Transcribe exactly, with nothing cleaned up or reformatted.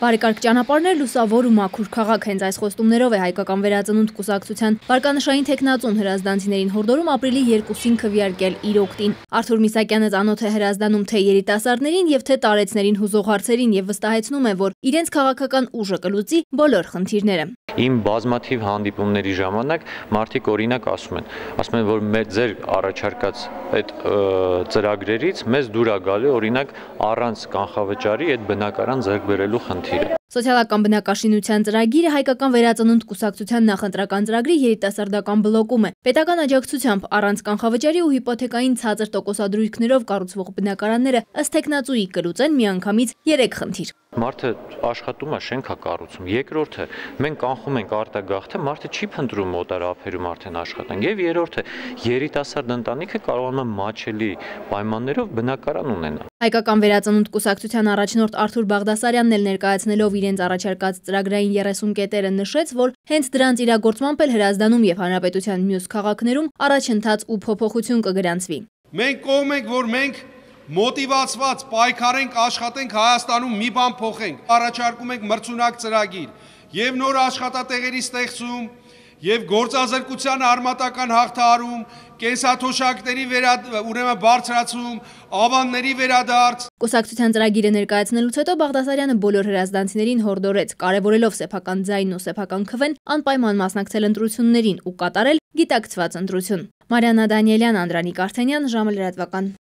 Բարեկարգ ճանապարհներ, լուսավոր ու մաքուր քաղաք, հենց այս խոստումներով է հայկական վերածնունդ կուսակցության վարկանշային թեկնածուն Հրազդանցիներին հորդորում ապրիլի երկուսին քվեարկել իր օգտին։ Արթուր Միսակյանը ծանոթ է Հրազդանում թե երիտասարդներին եւ թե տարեցներին հուզող հարցերին եւ վստահեցնում է, որ իրենց քաղաքական ուժը կլուծի բոլոր խնդիրները։ Իմ բազմաթիվ հանդիպումների ժամանակ մարդիկ օրինակ ասում են, ասում են, որ մեր ձեր առաջարկած այդ ծրագրերից մեզ դուր է գալի օրինակ առանց կանխավճարի այդ բնակարան ձեռք բերելու խնդիրը։ Սոցիալական բնակաշինության ծրագիրը հայկական վերածնունդ կուսակցության նախընտրական ծրագրի երիտասարդական բլոկում է։ Պետական աջակցությամբ առանց կանխավճարի ու հիպոթեկային ցածր տոկոսադրույքներով կառուցվող բնակարանները ըստ տեխնացուի կլուծեն միանգամից երեք խնդիր։ Մարդը աշխատում է, շենք է կառուցում։ Երկրորդը, մենք կանխում ենք արտագաղթը, մարդը չի փնտրում օտար ափերում արդեն աշխատանք։ Եվ երրորդը, երիտասարդ ընտանիքը կարողանում է մաչելի պայմաններով բնակարան ունենալ։ Հայկական վերածնունդ կուսակցության առաջնորդ Արթուր Բաղդասարյանն էլ ներկայացնելով իրենց առաջարկած ծրագրային երեսուն կետերը նշեց, որ հենց դրանց իրագործմամբ էլ Հրազդանում եւ Հանրապետության մյուս քաղաքներում առաջընթաց ու փոփոխություն կգրանցվի։ Մենք կողմ ենք, որ մենք մոտիվացված պայքարենք, աշխատենք Հայաստանում մի բան փոխենք։ Առաջարկում ենք մրցունակ ծրագիր եւ նոր աշխատատեղերի ստեղծում եւ գործազրկության արմատական հաղթահարում, կենսաթոշակների ուրեմն բարձրացում, ավանների վերադարձ։ Կուսակցության ծրագիրը ներկայացնելուց հետո Բաղդասարյանը բոլոր հրազդանցիներին հորդորեց, կարևորելով սեփական ձայնն ու սեփական քվեն, անպայման մասնակցել ընտրություններին ու կատարել գիտակցված ընտրություն։ Մարիաննա Դանիելյան, Անդրանիկ Արթենյան, ժամը լրատվական։